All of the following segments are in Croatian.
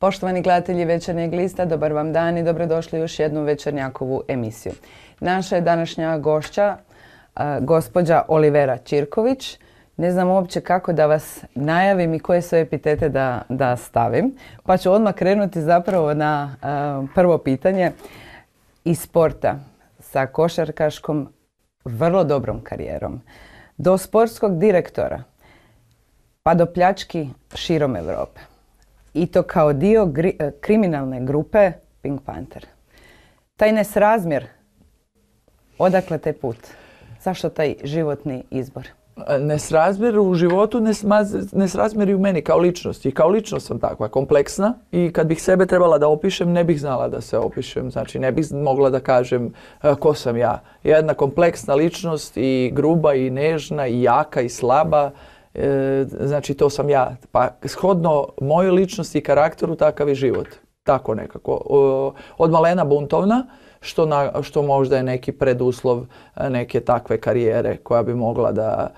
Poštovani gledatelji Večernjeg lista, dobar vam dan i dobrodošli u još jednu Večernjakovu emisiju. Naša je današnja gošća, gospođa Olivera Ćirković. Ne znam uopće kako da vas najavim i koje sve epitete da stavim, pa ću odmah krenuti zapravo na prvo pitanje. Iz sporta sa košarkaškom vrlo dobrom karijerom, do sportskog direktora, pa do pljački širom Europe. I to kao dio kriminalne grupe Pink Panther. Taj nesrazmjer, odakle taj put? Zašto taj životni izbor? Nesrazmjer u životu, nesrazmjer i u meni kao ličnost. I kao ličnost sam takva, kompleksna. I kad bih sebe trebala da opišem, ne bih znala da se opišem. Znači, ne bih mogla da kažem ko sam ja. Jedna kompleksna ličnost i gruba i nežna i jaka i slaba. Znači, to sam ja. Pa shodno mojoj ličnosti i karakteru, takav je život. Tako nekako. Od malena buntovna, što možda je neki preduslov neke takve karijere koja bi mogla da...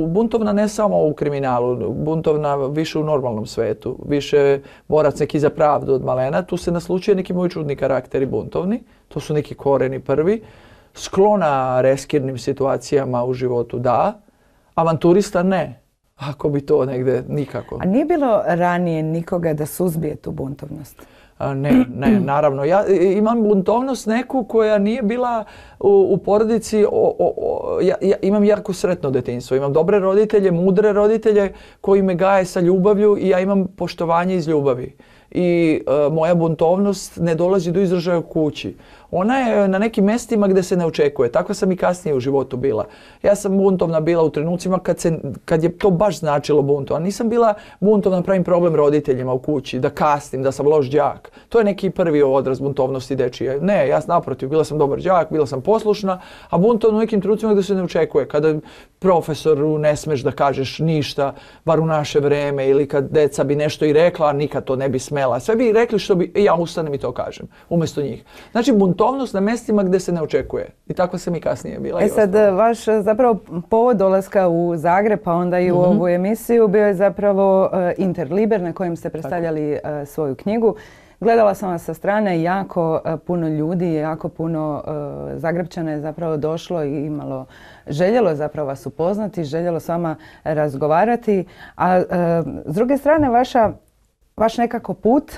Buntovna ne samo u kriminalu, buntovna više u normalnom svetu. Više borac neki za pravdu od malena. Tu se naslučuje neki moji čudni karakteri buntovni. To su neki koreni prvi. Sklona reskirnim situacijama u životu, da. Avanturista ne. Ako bi to negde, nikako. A nije bilo ranije nikoga da suzbije tu buntovnost? Ne, naravno. Ja imam buntovnost neku koja nije bila u porodici. Ja imam jako sretno detinjstvo. Imam dobre roditelje, mudre roditelje koji me gaje sa ljubavlju i ja imam poštovanje iz ljubavi. I moja buntovnost ne dolazi do izražaja u kući. Ona je na nekim mjestima gdje se ne očekuje. Tako sam i kasnije u životu bila. Ja sam buntovna bila u trenucima kad je to baš značilo buntovna. Nisam bila buntovna, pravim problem roditeljima u kući, da kasnim, da sam loš đak. To je neki prvi odraz buntovnosti dečije. Ne, ja naprotiv, bila sam dobar đak, bila sam poslušna, a buntovna u nekim trenucima gdje se ne očekuje. Kada profesoru ne smeš da kažeš ništa, bar u naše vreme, ili kad deca bi nešto i rekla, a nikad to ne bi smela. Sve bi rekli što bi, ja ustanem i to kažem, umjesto njih. Znači, buntovnost na mjestima gdje se ne očekuje. I tako sam i kasnije bila. Sad, vaš zapravo povod dolaska u Zagreb, pa onda i u ovu emisiju, bio je zapravo Interliber na kojem ste predstavljali svoju knjigu. Gledala sam vas sa strane, jako puno ljudi, jako puno Zagrepčana je zapravo došlo i željelo zapravo vas upoznati, željelo s vama razgovarati. A s druge strane, vaš nekako put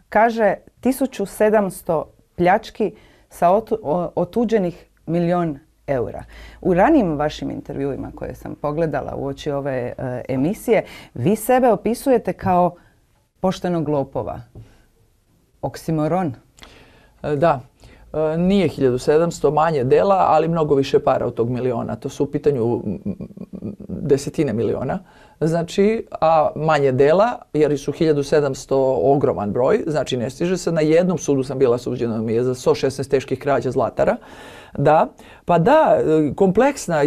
kaže 1700 pljački sa otuđenih 1.000.000 eura. U ranijim vašim intervjuima koje sam pogledala uoči ove emisije, vi sebe opisujete kao poštenog lopova. Oksimoron. Da. Nije 1700, manje dela, ali mnogo više para od tog 1.000.000. To su u pitanju desetine miliona. Znači, a manje dela, jer su 1700 ogroman broj, znači ne stiže se. Na jednom sudu sam bila suđena mi je za 116 teških krađa zlatara. Da, pa da, kompleksna.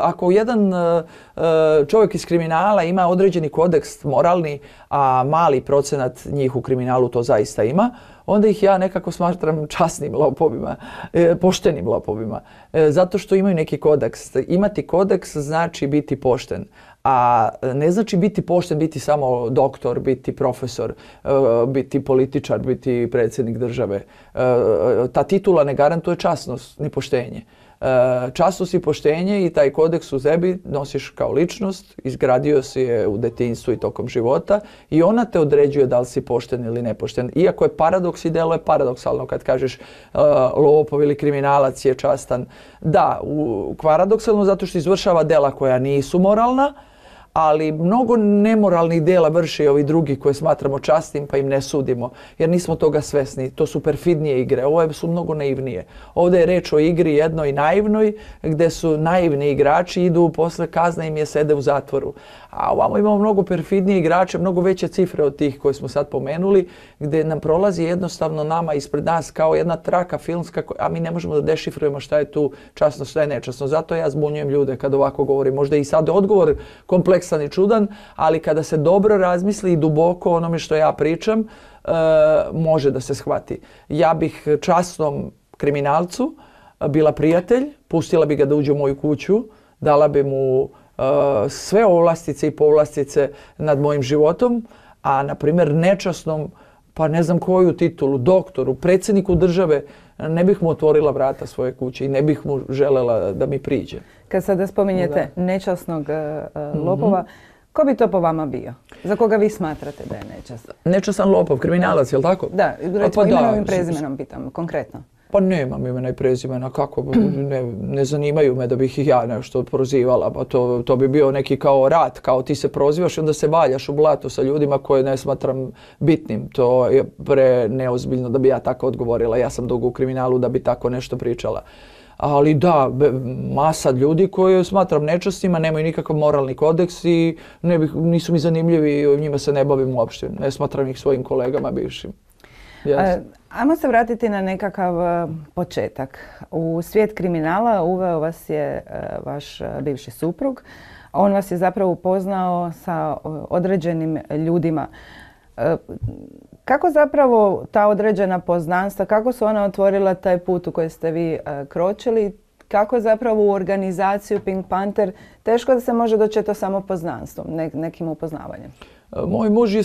Ako jedan čovjek iz kriminala ima određeni kodeks moralni, a mali procenat njih u kriminalu to zaista ima, onda ih ja nekako smatram časnim lopovima, poštenim lopovima. Zato što imaju neki kodeks. Imati kodeks znači biti pošten. A ne znači biti pošten, biti samo doktor, biti profesor, biti političar, biti predsjednik države. Ta titula ne garantuje časnost ni poštenje. Časnost i poštenje i taj kodeks u sebi nosiš kao ličnost, izgradio si je u detinjstvu i tokom života i ona te određuje da li si pošten ili nepošten. Iako je paradoks i delo je paradoksalno kad kažeš lopov ili kriminalac je častan. Da, paradoksalno zato što izvršava dela koja nisu moralna, ali mnogo nemoralnih dela vrše i ovi drugi koje smatramo časnim pa im ne sudimo jer nismo toga svesni. To su perfidnije igre, ovo su mnogo naivnije. Ovdje je reč o igri jednoj naivnoj gdje su naivni igrači idu posle kazne im je sede u zatvoru. A ovamo imamo mnogo perfidnije igrače, mnogo veće cifre od tih koje smo sad pomenuli gdje nam prolazi jednostavno nama ispred nas kao jedna traka filmska, a mi ne možemo da dešifrujemo šta je tu časno, šta je nečasno. Zato ja zbunjujem ljude kad ovako govorim. Možda i sad odgovor kompleksan i čudan, ali kada se dobro razmisli i duboko onome što ja pričam, može da se shvati. Ja bih časnom kriminalcu bila prijatelj, pustila bi ga da uđe u moju kuću, dala bi mu sve ovlastice i povlastice nad mojim životom, a na primjer nečasnom pa ne znam koju titulu, doktoru, predsjedniku države, ne bih mu otvorila vrata svoje kuće i ne bih mu želela da mi priđe. Kad sada spominjete nečasnog lopova, ko bi to po vama bio? Za koga vi smatrate da je nečastan? Nečastan lopov, kriminalac, je li tako? Da, recimo imenom i prezimenom pitam, konkretno. Pa nemam imena i prezimena, kako, ne zanimaju me da bih ih ja nešto prozivala, pa to bi bio neki kao rat, kao ti se prozivaš i onda se valjaš u blatu sa ljudima koje ne smatram bitnim. To je pre neozbiljno da bi ja tako odgovorila, ja sam dugo u kriminalu da bi tako nešto pričala. Ali da, masa ljudi koje smatram nečasnima, nemaju nikakav moralni kodeks i nisu mi zanimljivi i njima se ne bavim uopšte. Ne smatram ih svojim kolegama bivšim. Ajmo se vratiti na nekakav početak. U svijet kriminala uveo vas je vaš bivši suprug. On vas je zapravo upoznao sa određenim ljudima. Kako zapravo ta određena poznanstva, kako su ona otvorila taj put u koji ste vi kročili? Kako zapravo u organizaciju Pink Panther teško da se može doći to samo poznanstvom, nekim upoznavanjem? Moj muž je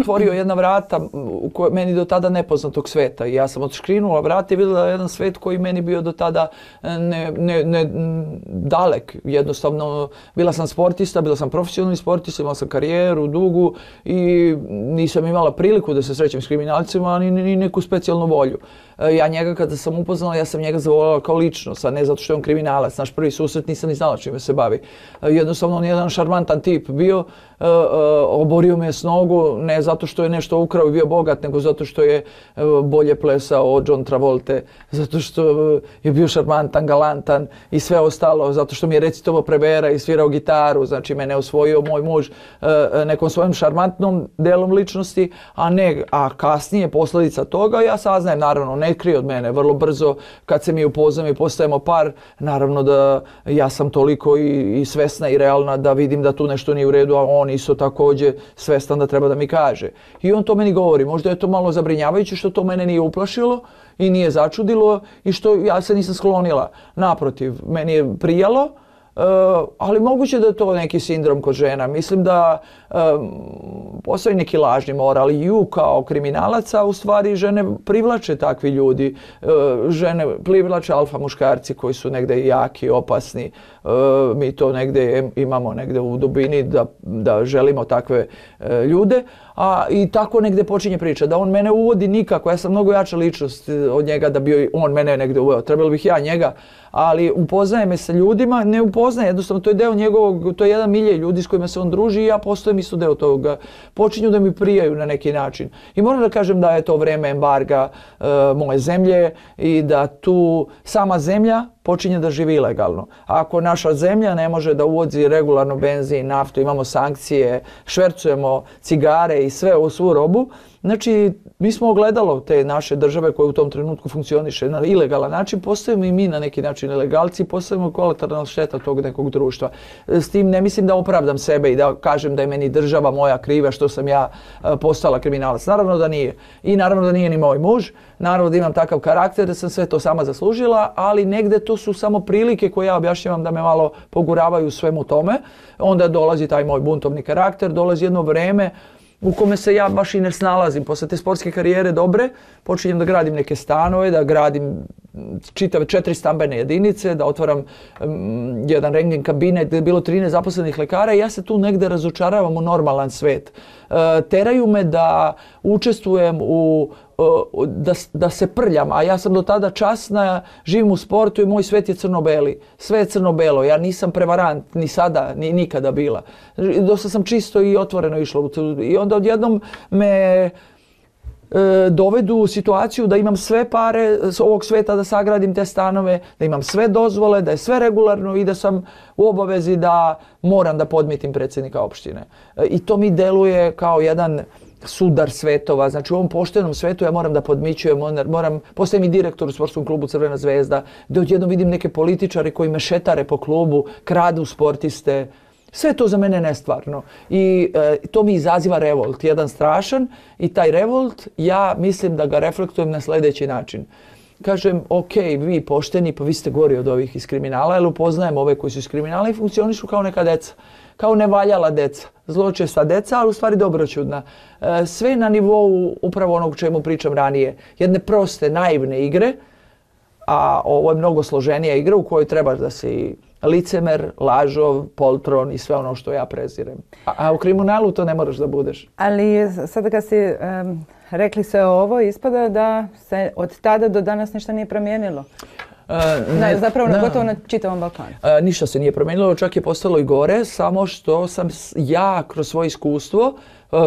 otvorio jedna vrata meni do tada nepoznatog sveta. I ja sam odškrinula vrata i vidjela jedan svet koji meni bio do tada dalek. Jednostavno, bila sam sportista, bila sam profesionalni sportista, imala sam karijeru dugu i nisam imala priliku da se srećem s kriminalcima, ni neku specijalnu volju. Ja njega kada sam upoznala, ja sam njega zavoljala kao ličnost, a ne zato što je on kriminalac. Naš prvi susret nisam ni znala čime se bavi. Jednostavno, on je jedan šarmantan tip bio, oborio me s nogu, ne zato što je nešto ukrao i bio bogat, nego zato što je bolje plesao od John Travolte, zato što je bio šarmantan, galantan i sve ostalo, zato što mi je recitovao Prebera i svirao gitaru, znači mene osvojio moj muž nekom svojom šarmantnom delom ličnosti, a kasnije posljedica toga ja saznajem, naravno, ne krije od mene, vrlo brzo kad se mi upoznamo i postajemo par, naravno da ja sam toliko i svesna i realna da vidim da tu nešto nije u redu, a on isto također svestan da treba da mi kaže. I on to meni govori, možda je to malo zabrinjavajuće što to mene nije uplašilo i nije začudilo i što ja se nisam sklonila. Naprotiv, meni je prijalo, ali moguće da je to neki sindrom kod žena. Mislim da postoji neki lažni moral i kao kriminalaca u stvari žene privlače takvi ljudi. Žene privlače alfa muškarci koji su negde jaki, opasni. Mi to negde imamo negde u dubini da želimo takve ljude. I tako negde počinje priča, da on mene uvodi nikako, ja sam mnogo jača ličnost od njega da bi on mene negde uveo, trebalo bih ja njega, ali upoznaje me sa ljudima, ne upoznaje, jednostavno to je deo njegovog, to je jedan milje ljudi s kojima se on druži i ja postojem isto deo toga, počinju da mi prijaju na neki način. I moram da kažem da je to vreme embarga moje zemlje i da tu sama zemlja počinje da živi ilegalno. Ako naša zemlja ne može da uvozi regularno benzin, naftu, imamo sankcije, švercujemo cigare i sve u svu robu, znači mi smo ogledalo te naše države koje u tom trenutku funkcioniše na ilegalan način, postajemo i mi na neki način ilegalci, postajemo kolateralna šteta tog nekog društva. S tim ne mislim da opravdam sebe i da kažem da je meni država moja kriva što sam ja postala kriminalac. Naravno da nije. I naravno da nije ni moj muž. Naravno da imam takav karakter da sam sve to sama zaslužila, ali negde to su samo prilike koje ja objašnjavam da me malo poguravaju svemu tome. Onda dolazi taj moj buntovni karakter, dolazi jedno vreme u kome se ja baš i ne snalazim. Posle te sportske karijere dobre, počinjem da gradim neke stanove, da gradim čitave 4 stambene jedinice, da otvaram jedan rentgen kabinet gdje je bilo 13 zaposlenih lekara i ja se tu negde razočaravam u normalan svet. Teraju me da učestvujem da se prljam, a ja sam do tada časna, živim u sportu i moj svet je crno-beli. Sve je crno-belo, ja nisam prevarant, ni sada, ni nikada bila. Dosta sam čisto i otvoreno išla. I onda odjednom me dovedu u situaciju da imam sve pare s ovog sveta da sagradim te stanove, da imam sve dozvole, da je sve regularno i da sam u obavezi da moram da podmitim predsjednika opštine. I to mi deluje kao jedan sudar svetova. Znači u ovom poštenom svetu ja moram da podmićujem, postajem i direktor u sportskom klubu Crvena zvezda, gdje odjednom vidim neke političare koji me šetare po klubu, kradu sportiste. Sve to za mene nestvarno i to mi izaziva revolt, jedan strašan i taj revolt ja mislim da ga reflektujem na sljedeći način. kažem, ok, vi pošteni, pa vi ste gori od ovih iz kriminala, jer upoznajem ove koji su iz kriminala i funkcionišu kao neka deca, kao nevaljala deca, zločesta deca, ali u stvari dobroćudna. Sve na nivou upravo onog o čemu pričam ranije, jedne proste, naivne igre, a ovo je mnogo složenija igra u kojoj trebaš da si licemer, lažov, poltron i sve ono što ja prezirem. A u kriminalu to ne moraš da budeš. Ali sada kad si rekli sve ovo, ispada da se od tada do danas ništa nije promijenilo. Zapravo gotovo na čitavom Balkanu. Ništa se nije promijenilo, čak je postalo i gore, samo što sam ja kroz svoje iskustvo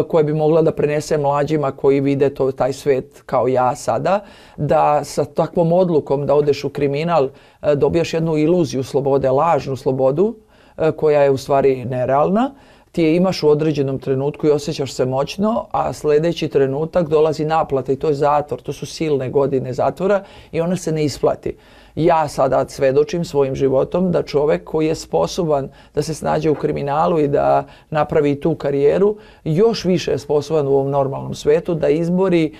koje bi mogla da prenese mlađima koji vide taj svet kao ja sada, da sa takvom odlukom da odeš u kriminal dobijaš jednu iluziju slobode, lažnu slobodu koja je u stvari nerealna. Ti je imaš u određenom trenutku i osjećaš se moćno, a sljedeći trenutak dolazi naplata i to je zatvor, to su silne godine zatvora i ona se ne isplati. Ja sada svedočim svojim životom da čovjek koji je sposoban da se snađe u kriminalu i da napravi tu karijeru, još više je sposoban u ovom normalnom svetu da izbori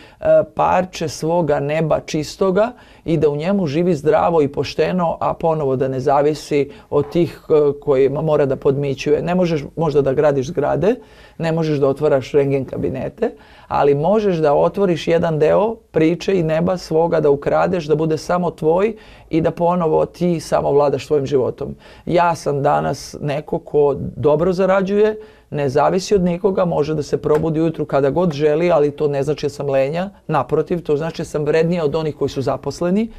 parče svoga neba čistoga i da u njemu živi zdravo i pošteno, a ponovo da ne zavisi od tih kojima mora da podmićuje. Ne možeš možda da gradiš zgrade, ne možeš da otvaraš rentgen kabinete, ali možeš da otvoriš jedan deo priče i neba svoga, da ukradeš, da bude samo tvoj i da ponovo ti samo vladaš svojim životom. Ja sam danas neko ko dobro zarađuje, ne zavisi od nikoga, može da se probudi ujutru kada god želi, ali to ne znači da sam lenja, naprotiv, to znači da sam vrednija od onih koji su zaposleni,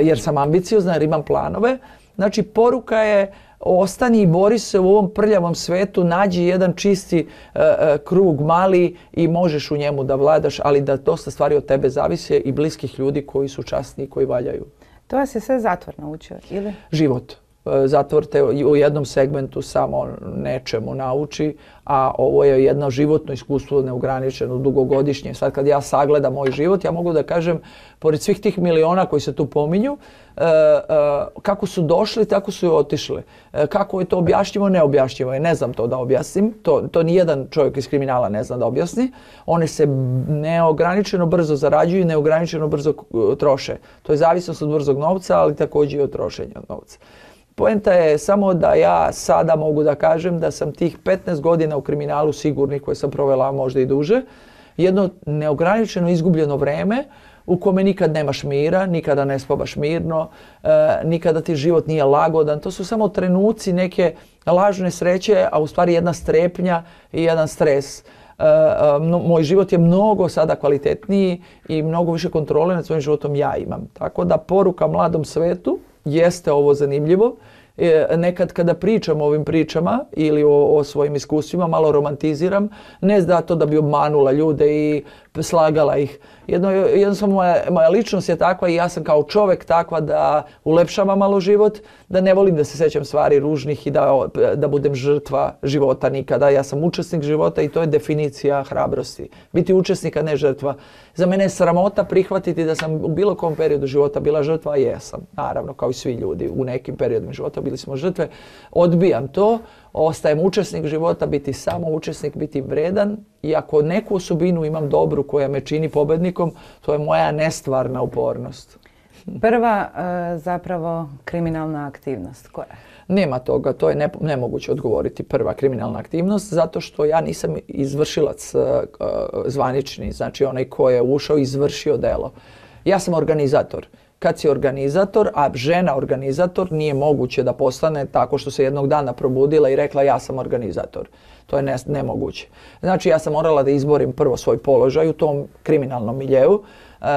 jer sam ambiciozna, jer imam planove. Znači, poruka je ostani i bori se u ovom prljavom svetu, nađi jedan čisti krug mali i možeš u njemu da vladaš, ali da dosta stvari od tebe zavise i bliskih ljudi koji su časni i koji valjaju. To vas je sve zatvor naučio, ili? Život. Zatvor te u jednom segmentu samo nečemu nauči, a ovo je jedno životno iskustvo neograničeno, dugogodišnje. Sad kad ja sagledam moj život, ja mogu da kažem, pored svih tih miliona koji se tu pominju, kako su došli, tako su i otišli. Kako je to objašnjivo, neobjašnjivo je. Ne znam to da objasnim. To nijedan čovjek iz kriminala ne zna da objasni. One se neograničeno brzo zarađuju i neograničeno brzo troše. To je zavisnost od brzog novca, ali također i od trošenja novca. Poenta je samo da ja sada mogu da kažem da sam tih 15 godina u kriminalu sigurnih koje sam provela možda i duže, jedno neograničeno izgubljeno vreme u kome nikad nemaš mira, nikada ne spavaš mirno, nikada ti život nije lagodan. To su samo trenuci neke lažne sreće, a u stvari jedna strepnja i jedan stres. Moj život je mnogo sada kvalitetniji i mnogo više kontrole nad svojim životom ja imam. Tako da poruka mladom svetu jeste ovo zanimljivo. Nekad kada pričam o ovim pričama ili o svojim iskustvima, malo romantiziram, ne zato da bi obmanula ljude i slagala ih. Jednostavno moja ličnost je takva i ja sam kao čovjek takva da ulepšavam malo život, da ne volim da se sećam stvari ružnih i da budem žrtva života nikada. Ja sam učesnik života i to je definicija hrabrosti. Biti učesnik, a ne žrtva. Za mene je sramota prihvatiti da sam u bilo kom periodu života bila žrtva, a jesam. Naravno, kao i svi ljudi, u nekim periodima života bili smo žrtve. Odbijam to, ostajem učesnik života, biti samo učesnik, biti vredan. I ako neku osobinu imam dobru koja me čini pobednikom, to je moja nestvarna upornost. Prva zapravo kriminalna aktivnost koja je? Nema toga, to je nemoguće odgovoriti prva kriminalna aktivnost, zato što ja nisam izvršilac zvanični, znači onaj ko je ušao i izvršio delo. Ja sam organizator. Kad si organizator, a žena organizator, nije moguće da postane tako što se jednog dana probudila i rekla ja sam organizator. To je nemoguće. Znači ja sam morala da izborim prvo svoj položaj u tom kriminalnom miljeu,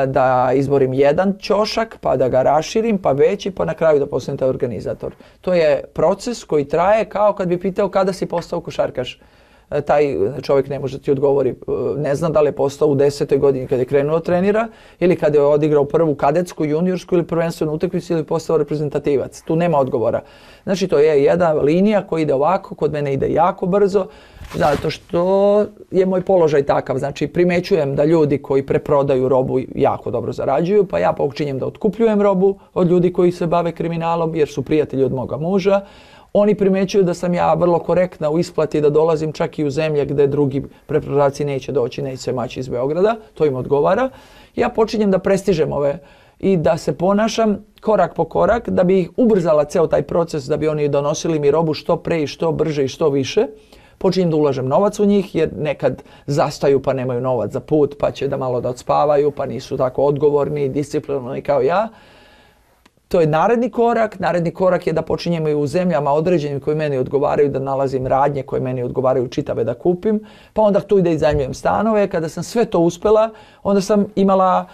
da izborim jedan ćošak, pa da ga raširim, pa veći, pa na kraju da postanem taj organizator. To je proces koji traje kao kad bi pitao kada si postao košarkaš. Taj čovjek ne može ti odgovori, ne znam da li je postao u 10. godini kad je krenuo trenira ili kad je odigrao prvu kadetsku, juniorsku ili prvenstvenu utakmicu ili postao reprezentativac. Tu nema odgovora. Znači to je jedna linija koja ide ovako, kod mene ide jako brzo, zato što je moj položaj takav. Znači primećujem da ljudi koji preprodaju robu jako dobro zarađuju, pa ja počinjem da otkupljujem robu od ljudi koji se bave kriminalom jer su prijatelji od moga muža. Oni primećuju da sam ja vrlo korektna u isplati, da dolazim čak i u zemlje gdje drugi preprodavci neće doći, neće se maći iz Beograda, to im odgovara. Ja počinjem da prestižem ove i da se ponašam korak po korak, da bi ih ubrzala ceo taj proces, da bi oni donosili mi robu što pre i što brže i što više. Počinjem da ulažem novac u njih jer nekad zastaju pa nemaju novac za put, pa će da malo da odspavaju, pa nisu tako odgovorni i disciplinovani kao ja. To je naredni korak. Naredni korak je da počinjemo i u zemljama određenim koji meni odgovaraju, da nalazim radnje koje meni odgovaraju čitave da kupim. Pa onda tu ide i iznajmljujem stanove. Kada sam sve to uspela, onda sam imala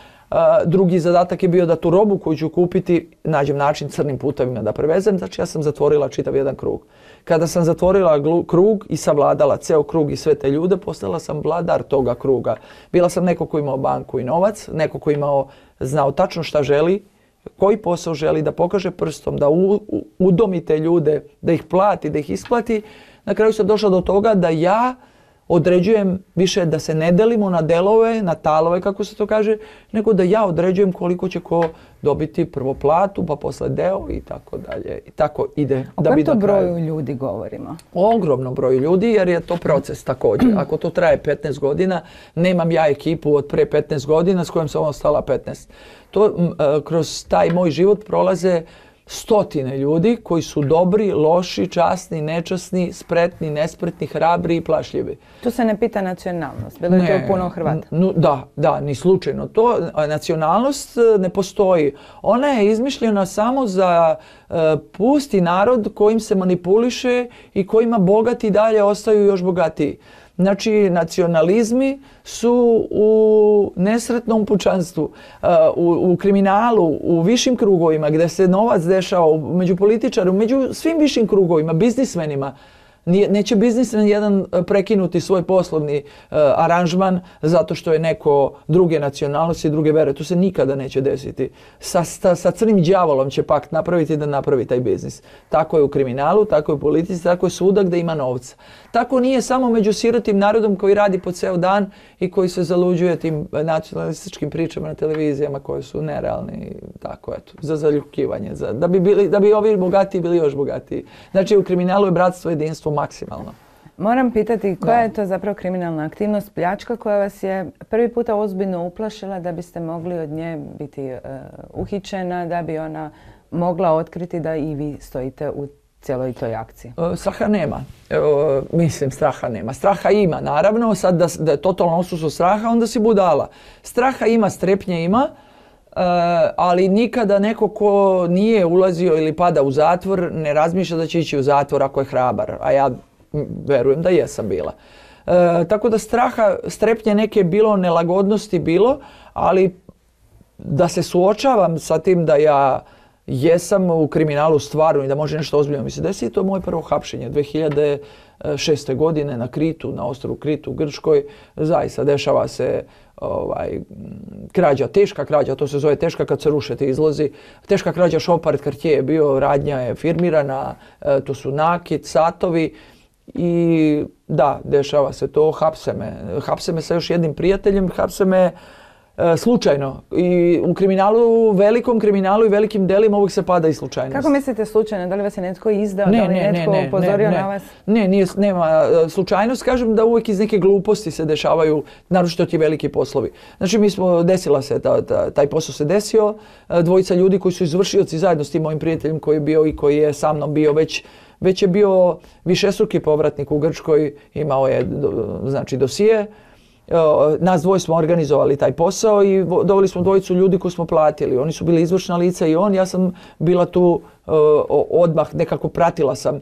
drugi zadatak je bio da tu robu koju ću kupiti nađem način crnim putevima da prevezem. Znači ja sam zatvorila čitav jedan krug. Kada sam zatvorila krug i savladala ceo krug i sve te ljude, postala sam vladar toga kruga. Bila sam neko ko imao banku i novac, neko ko znao tačno šta želi, koji posao želi, da pokaže prstom, da udomi te ljude, da ih plati, da ih isplati. Na kraju sam došla do toga da ja određujem više da se ne delimo na delove, na talove kako se to kaže, nego da ja određujem koliko će ko dobiti prvo platu, pa posle deo i tako dalje. I tako ide. O kojem to broju ljudi govorimo? O ogromnom broju ljudi jer je to proces također. Ako to traje 15 godina, nemam ja ekipu od pre 15 godina s kojom sam ostala 15. Kroz taj moj život prolaze stotine ljudi koji su dobri, loši, časni, nečasni, spretni, nespretni, hrabri i plašljivi. Tu se ne pita nacionalnost, bilo je to puno Hrvata. Da, ni slučajno. Nacionalnost ne postoji. Ona je izmišljena samo za pusti narod kojim se manipuliše i kojima bogati dalje ostaju još bogatiji. Znači, nacionalizmi su u nesretnom pučanstvu, u kriminalu, u višim krugovima gdje se novac dešava, među političarima, među svim višim krugovima, biznismenima. Neće biznismen jedan prekinuti svoj poslovni aranžman zato što je neko druge nacionalnosti i druge vere. To se nikada neće desiti. Sa crnim đavolom će pakt napraviti da napravi taj biznis. Tako je u kriminalu, tako je u politici, tako je svuda gdje ima novca. Tako nije samo među sirotim narodom koji radi po ceo dan i koji se zaluđuje tim nacionalističkim pričama na televizijama koje su nerealni. Tako, eto, za zaljubljivanje. Da bi ovi bogatiji bili još bogatiji. Znači, u kriminalu je bratstvo jedinstvo maksimalno. Moram pitati koja je to zapravo kriminalna aktivnost, pljačka koja vas je prvi puta ozbiljno uplašila da biste mogli od nje biti uhićena, da bi ona mogla otkriti da i vi stojite u cijeloj toj akciji? Straha nema. Straha nema. Straha ima, naravno. Sad da je totalno odsustvo straha, onda si budala. Straha ima, strepnje ima, ali nikada neko ko nije ulazio ili pada u zatvor ne razmišlja da će ići u zatvor ako je hrabar. A ja verujem da jesam bila. Tako da straha, strepnje neke bilo, nelagodnosti bilo, ali da se suočavam sa tim da ja jesam u kriminalu stvarno i da može nešto ozbiljno mi se desiti, to je moje prvo hapšenje 2006. godine na Kritu, na ostrvu Kritu u Grčkoj. Zaista dešava se krađa, teška krađa, to se zove teška kad se ruše ti izlozi. Teška krađa Chopard Cartier je bio, radnja je firmirana, to su nakit, satovi i da, dešava se to, hapse me sa još jednim prijateljem, hapse me slučajno. I u kriminalu, velikom kriminalu i velikim delima uvijek se pada i slučajnost. Kako mislite slučajno? Da li vas je netko izdao? Da li je netko upozorio na vas? Nema slučajnost. Kažem da uvijek iz neke gluposti se dešavaju, naročito ti veliki poslovi. Znači desila se, taj posao se desio. Dvojica ljudi koji su izvršioci zajedno s tim mojim prijateljem koji je bio i koji je sa mnom bio već je bio višestruki povratnik u Grčkoj, imao je znači dosije. Nas dvoje smo organizovali taj posao i doveli smo dvojicu ljudi koji smo platili. Oni su bili izvršna lica i ja sam bila tu odmah, nekako pratila sam.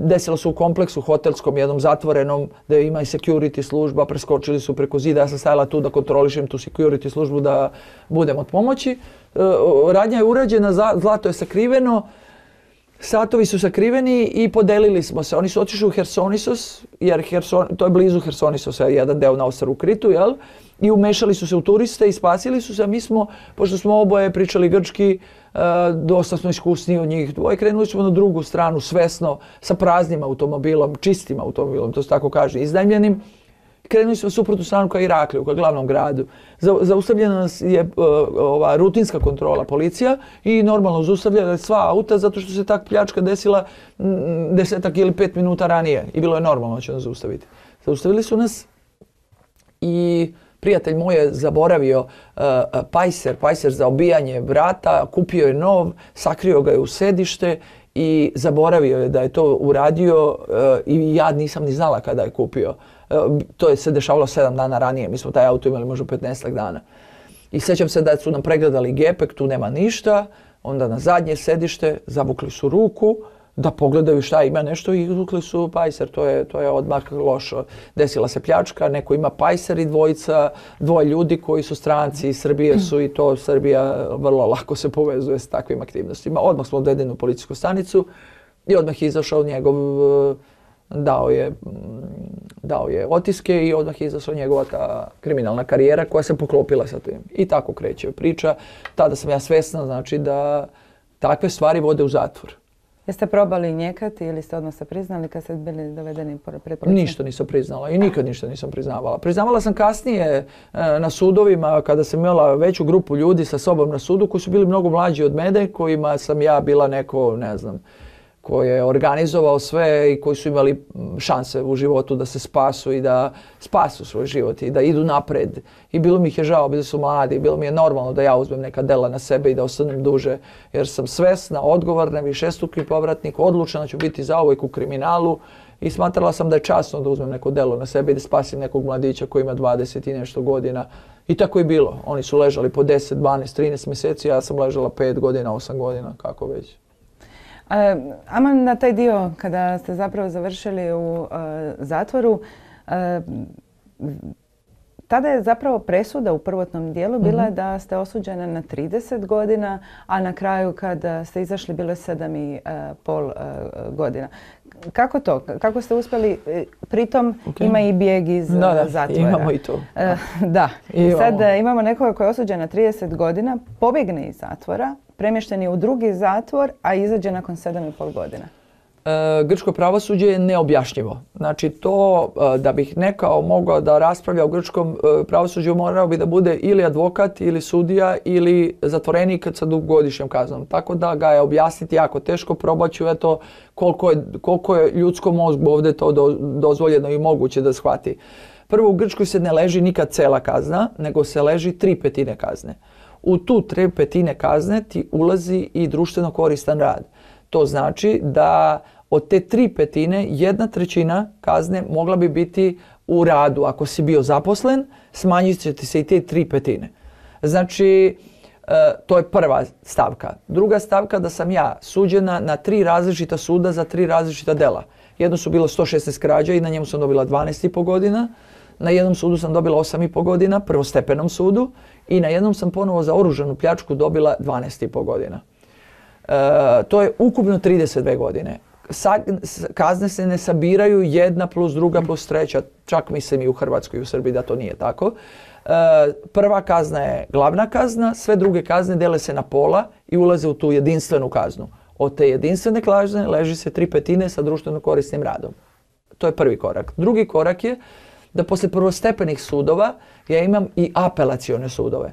Desilo se u kompleksu hotelskom, jednom zatvorenom, da ima i security služba, preskočili su preko zida, ja sam stajala tu da kontrolišem tu security službu da budem od pomoći. Radnja je urađena, zlato je sakriveno, satovi su sakriveni i podelili smo se. Oni su otišli u Hersonisos, jer to je blizu Hersonisosa, jedan deo na ostrvu Kritu, jel? I umešali su se u turiste i spasili su se, a mi smo, pošto smo oboje pričali grčki, dosta smo iskusniji od njih dvoje, krenuli smo na drugu stranu svesno, sa praznim automobilom, čistim automobilom, to se tako kaže, iznajmljenim. Krenuli smo suprotnu stranu ka Irakliju, ka glavnom gradu. Zaustavljena nas je rutinska kontrola, policija, i normalno zaustavljala sva auta zato što se ta pljačka desila 10 ili 5 minuta ranije i bilo je normalno da će nas zaustaviti. Zaustavili su nas i Prijatelj moj je zaboravio pajser za obijanje vrata, kupio je nov, sakrio ga je u sedište i zaboravio je da je to uradio i ja nisam ni znala kada je kupio. To je se dešavalo 7 dana ranije, mi smo taj auto imali možda 15 dana. I sjećam se da su nam pregledali gepek, tu nema ništa, onda na zadnje sedište zavukli su ruku da pogledaju šta ima nešto i izvukli su pajser. To je odmah lošo. Desila se pljačka, neko ima pajser i dvoje ljudi koji su stranci iz Srbije su i to Srbija vrlo lako se povezuje s takvim aktivnostima. Odmah smo odvedeni u policijsku stanicu i odmah je izašao njegov, dao je otiske i odmah je izašla njegova ta kriminalna karijera koja se poklopila sa tim. I tako kreće priča. Tada sam ja svjesna, znači da takve stvari vode u zatvor. Jeste probali njekati ili ste odmah se priznali kad ste bili dovedeni pred policijom? Ništa nisam priznala i nikad ništa nisam priznavala. Priznavala sam kasnije na sudovima kada sam imala veću grupu ljudi sa sobom na sudu koji su bili mnogo mlađi od mene, kojima sam ja bila neko, ne znam, koji je organizovao sve i koji su imali šanse u životu da se spasu i da spasu svoj život i da idu napred. I bilo mi ih je žao, bili su mladi, bilo mi je normalno da ja uzmem neka dela na sebe i da ostanem duže. Jer sam svesna, odgovorna, višestruki povratnik, odlučna da ću biti zauvijek u kriminalu i smatrala sam da je časno da uzmem neko delo na sebe i da spasim nekog mladića koji ima 20 i nešto godina. I tako je bilo. Oni su ležali po 10, 12, 13 mjeseci, ja sam ležala 5 godina, 8 godina, kako već. Ama na taj dio kada ste zapravo završili u zatvoru, tada je zapravo presuda u prvotnom dijelu bila da ste osuđena na 30 godina, a na kraju kada ste izašli bilo je 7,5 godina. Kako to? Kako ste uspjeli? Pritom ima i bijeg iz zatvora. Imamo i to. Da. I sad imamo nekoga koji je osuđen na 30 godina, pobjegne iz zatvora, premješten je u drugi zatvor, a izađe nakon 7,5 godina. Grčko pravosuđe je neobjašnjivo. Znači to da bih nekao mogao da raspravlja o grčkom pravosuđu morao bi da bude ili advokat ili sudija ili zatvorenik sa dugogodišnjom kaznom. Tako da ga je objasniti jako teško, probat ću eto koliko je ljudskom mozgu ovdje to dozvoljeno i moguće da shvati. Prvo, u Grčkoj se ne leži nikad cela kazna, nego se leži 3/5 kazne. U tu 3/5 kazne ti ulazi i društveno koristan rad. To znači da od te 3/5 1/3 kazne mogla bi biti u radu. Ako si bio zaposlen, smanjit će ti se i te 3/5. Znači, to je prva stavka. Druga stavka da sam ja suđena na 3 različita suda za 3 različita dela. Jedno su bilo 116 krađa i na njemu sam dobila 12,5 godina. Na jednom sudu sam dobila 8,5 godina, prvostepenom sudu. I na jednom sam ponovo za oružanu pljačku dobila 12,5 godina. To je ukupno 32 godine. Kazne se ne sabiraju 1 plus 2 plus 3, čak mislim i u Hrvatskoj i u Srbiji da to nije tako. Prva kazna je glavna kazna, sve druge kazne dele se na pola i ulaze u tu jedinstvenu kaznu. Od te jedinstvene kazne leži se 3/5 sa društveno korisnim radom. To je prvi korak. Drugi korak je da poslije prvostepenih sudova ja imam i apelacione sudove.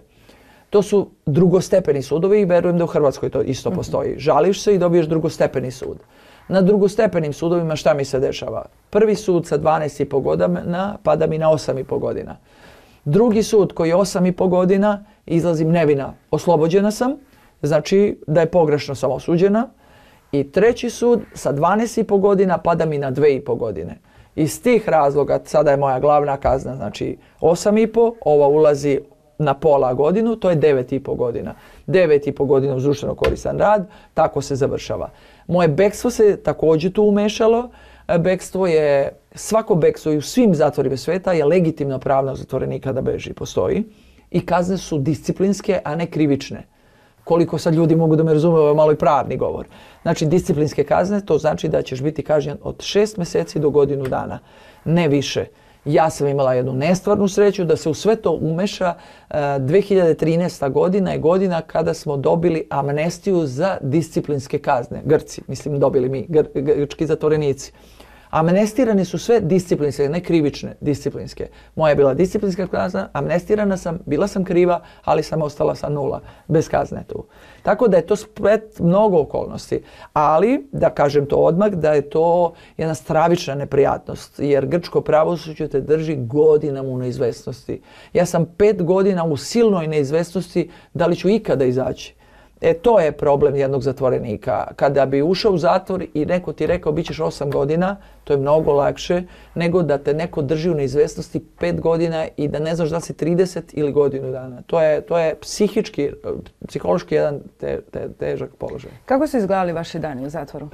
To su drugostepeni sudovi i verujem da u Hrvatskoj to isto postoji. Žališ se i dobiješ drugostepeni sud. Na drugostepenim sudovima šta mi se dešava? Prvi sud sa 12,5 godina pada mi na 8,5 godina. Drugi sud koji je 8,5 godina, izlazim nevina, oslobođena sam, znači da je pogrešno sam osuđena. I treći sud sa 12,5 godina pada mi na 2,5 godine. Iz tih razloga, sada je moja glavna kazna, znači 8,5, ova ulazi na pola godinu, to je 9,5 godina. 9,5 godina uz društveno koristan rad, tako se završava. Moje bekstvo se također tu umešalo. Bekstvo je, svako bekstvo i u svim zatvorima svijeta je legitimno pravo zatvorenika da beži, postoji. I kazne su disciplinske, a ne krivične. Koliko sad ljudi mogu da me razume, ovo je malo i pravni govor. Znači, disciplinske kazne, to znači da ćeš biti kažnjen od 6 mjeseci do godinu dana, ne više. Ja sam imala jednu nestvarnu sreću da se u sve to umeša. 2013. godina je godina kada smo dobili amnestiju za disciplinske kazne. Grci, mislim dobili mi, grčki zatvorenici. Amnestirane su sve disciplinske, ne krivične, disciplinske. Moja je bila disciplinska kazna, amnestirana sam, bila sam kriva, ali sam ostala sa 0, bez kazne tu. Tako da je to splet mnogo okolnosti. Ali, da kažem to odmah, da je to jedna stravična neprijatnost, jer grčko pravosuđe te drži godinama u neizvesnosti. Ja sam 5 godina u silnoj neizvesnosti da li ću ikada izaći. To je problem jednog zatvorenika. Kada bi ušao u zatvor i neko ti rekao bit ćeš 8 godina, to je mnogo lakše nego da te neko drži u neizvesnosti 5 godina i da ne znaš da si 30 ili godinu dana. To je psihološki jedan težak položaj. Kako su izgledali vaši dani u zatvoru?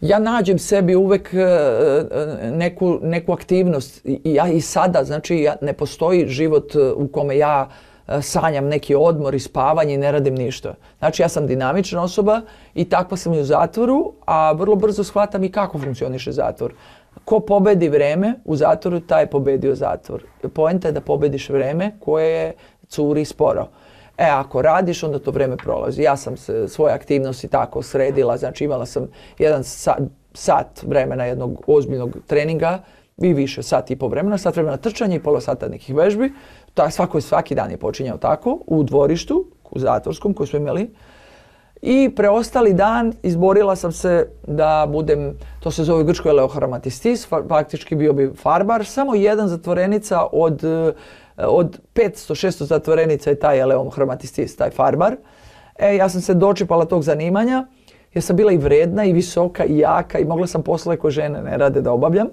Ja nađem sebi uvek neku aktivnost. I sada, znači, ne postoji život u kome ja sanjam neki odmor i spavanje i ne radim ništa. Znači, ja sam dinamična osoba i takva sam i u zatvoru, a vrlo brzo shvatam i kako funkcioniše zatvor. Ko pobedi vreme u zatvoru, taj je pobedio zatvor. Poenta je da pobediš vreme koje curi sporo. Ako radiš, onda to vreme prolazi. Ja sam svoje aktivnosti tako sredila, znači imala sam jedan sat vremena jednog ozbiljnog treninga i više, sat i po vremena, sat vremena trčanja i pola sata nekih vežbi. Svaki dan je počinjao tako, u dvorištu, u zatvorskom koji smo imali. I preostali dan izborila sam se da budem, to se zove u Grčkoj eleohromatistis, faktički bio bi farbar. Samo jedan zatvorenica od 500-600 zatvorenica je taj eleohromatistis, taj farbar. Ja sam se dočepala tog zanimanja jer sam bila i vredna i visoka i jaka i mogla sam poslove koje žene ne rade da obavljam.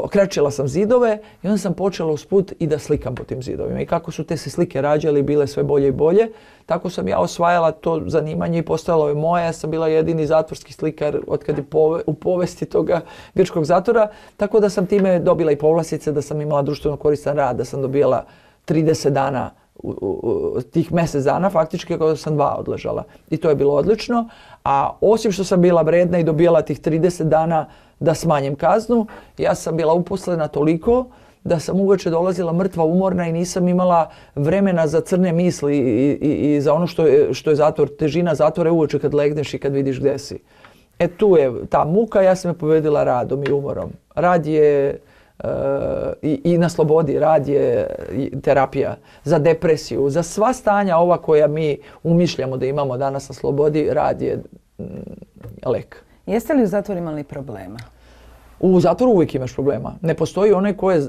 Krečila sam zidove i onda sam počela usput i da slikam po tim zidovima. I kako su te se slike rađale i bile sve bolje i bolje, tako sam ja osvajala to zanimanje i postojalo je moje. Ja sam bila jedini zatvorski slikar otkad je u povesti toga grčkog zatvora, tako da sam time dobila i povlastice, da sam imala društveno koristan rad, da sam dobila 30 dana, tih mjesec dana faktički kada sam 2 odležala. I to je bilo odlično. A osim što sam bila vredna i dobijala tih 30 dana da smanjem kaznu, ja sam bila uposlena toliko da sam uveče dolazila mrtva, umorna i nisam imala vremena za crne misli i za ono što je zatvor. Težina zatvora je uveče kad legneš i kad vidiš gdje si. Tu je ta muka, ja sam je pobedila radom i umorom. Rad je i na slobodi, rad je terapija za depresiju, za sva stanja ova koja mi umišljamo da imamo danas na slobodi, rad je lek. Jeste li u zatvoru imali problema? U zatvoru uvijek imaš problema. Ne postoji onaj ko je